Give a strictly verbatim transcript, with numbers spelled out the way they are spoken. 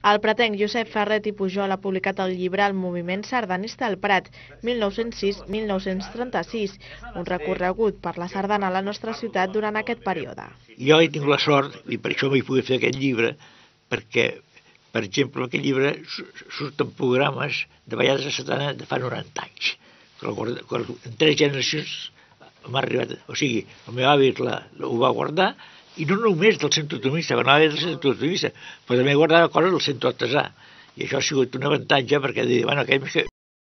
El pretenc Josep Ferret i Pujol ha publicat el llibre El moviment sardanista al Prat, mil nou-cents sis a mil nou-cents trenta-sis, un recorregut per la sardana a la nostra ciutat durant aquest període. Jo he tingut la sort, i per això m'hi pogut fer aquest llibre, perquè, per exemple, en aquest llibre surten programes de ballades de sardana de fa noranta anys. En tres generacions m'ha arribat, o sigui, el meu avi ho va guardar, i no només del centre automista, anava del centre automista, però també guardava coses del centre artesà. I això ha sigut un avantatge perquè, bueno, aquell